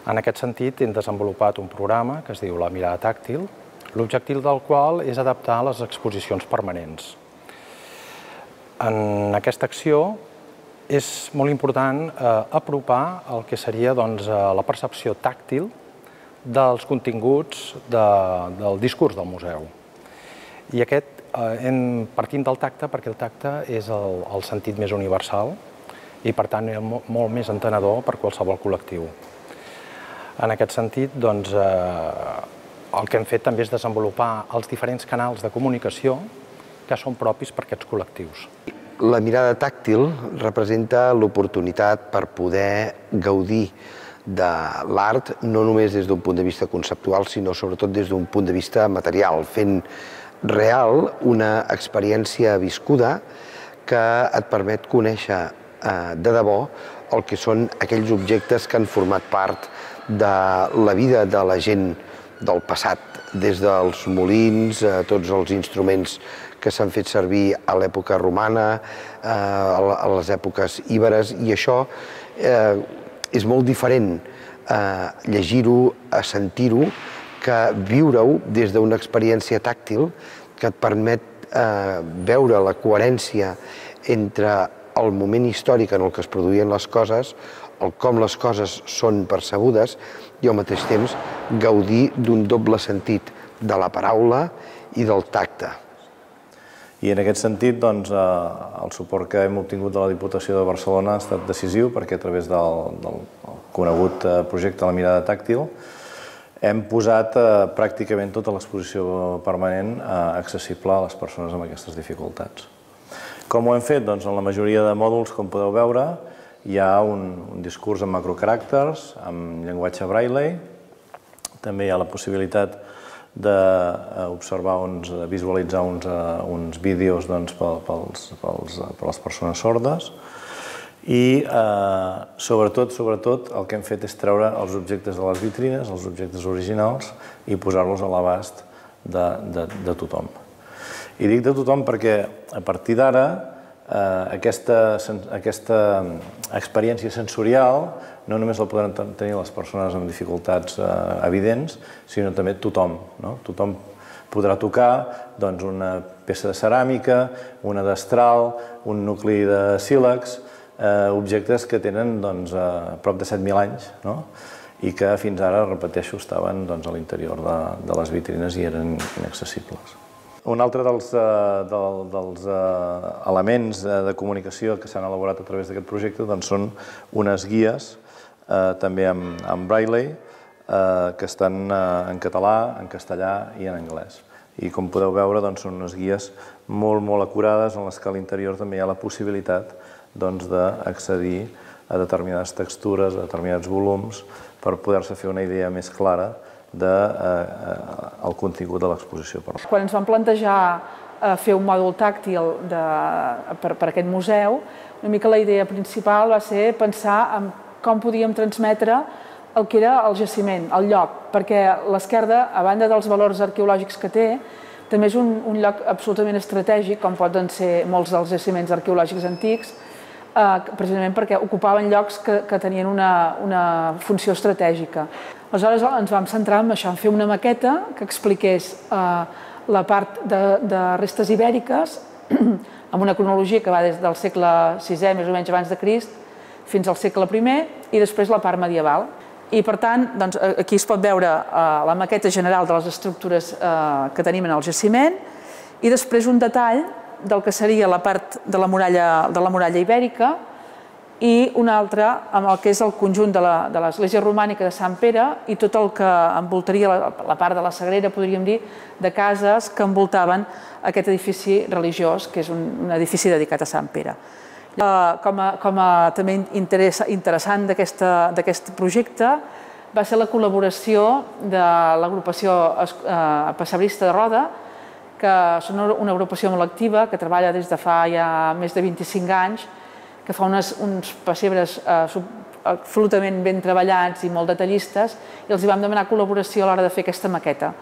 En aquest sentit, hem desenvolupat un programa que es diu La mirada tàctil, l'objectiu del qual és adaptar les exposicions permanents. En aquesta acció és molt important apropar el que seria la percepció tàctil dels continguts del discurs del museu. I partim del tacte perquè el tacte és el sentit més universal i, per tant, és molt més entenedor per qualsevol col·lectiu. En aquest sentit, el que hem fet també és desenvolupar els diferents canals de comunicació que són propis per a aquests col·lectius. La mirada tàctil representa l'oportunitat per poder gaudir de l'art no només des d'un punt de vista conceptual, sinó sobretot des d'un punt de vista material, fent real una experiència viscuda que et permet conèixer de debò el que són aquells objectes que han format part de la vida de la gent del passat, des dels molins, tots els instruments que s'han fet servir a l'època romana, a les èpoques íberes, i això és molt diferent a llegir-ho, a sentir-ho, que viure-ho des d'una experiència tàctil que et permet veure la coherència entre el moment històric en el que es produïen les coses, el com les coses són percebudes i al mateix temps gaudir d'un doble sentit de la paraula i del tacte. I en aquest sentit, el suport que hem obtingut de la Diputació de Barcelona ha estat decisiu perquè a través del conegut projecte La mirada tàctil hem posat pràcticament tota l'exposició permanent accessible a les persones amb aquestes dificultats. Com ho hem fet? Doncs en la majoria de mòduls, com podeu veure, hi ha un discurs en macrocaràcters, amb llenguatge braille. També hi ha la possibilitat d'observar, visualitzar uns vídeos per a les persones sordes. I sobretot el que hem fet és treure els objectes de les vitrines, els objectes originals, i posar-los a l'abast de tothom. I dic de tothom perquè a partir d'ara aquesta experiència sensorial no només la podran tenir les persones amb dificultats evidents, sinó també tothom. Tothom podrà tocar una peça de ceràmica, una destral, un nucli de sílex, objectes que tenen prop de 7.000 anys i que fins ara, repeteixo, estaven a l'interior de les vitrines i eren inaccessibles. Un altre dels elements de comunicació que s'han elaborat a través d'aquest projecte són unes guies, també amb braille, que estan en català, en castellà i en anglès. I com podeu veure, són unes guies molt acurades en les que a l'interior també hi ha la possibilitat d'accedir a determinades textures, a determinats volums, per poder-se fer una idea més clara del contingut de l'exposició. Quan ens vam plantejar fer un mòdul tàctil per a aquest museu, una mica la idea principal va ser pensar en com podíem transmetre el que era el jaciment, el lloc, perquè l'Esquerda, a banda dels valors arqueològics que té, també és un lloc absolutament estratègic, com poden ser molts dels jaciments arqueològics antics, precisament perquè ocupaven llocs que tenien una funció estratègica. Aleshores ens vam centrar en això, en fer una maqueta que expliqués la part de restes ibèriques amb una cronologia que va des del segle VI, més o menys abans de Crist, fins al segle I, i després la part medieval. I per tant, aquí es pot veure la maqueta general de les estructures que tenim en el jaciment i després un detall del que seria la part de la muralla ibèrica i una altra amb el que és el conjunt de l'església romànica de Sant Pere i tot el que envoltaria la part de la Sagrera, podríem dir, de cases que envoltaven aquest edifici religiós, que és un edifici dedicat a Sant Pere. Com a també interessant d'aquest projecte va ser la col·laboració de l'agrupació Pessebrista de Roda, que són una agrupació molt activa, que treballa des de fa ja més de 25 anys, que fa uns pessebres absolutament ben treballats i molt detallistes, i els vam demanar col·laboració a l'hora de fer aquesta maqueta.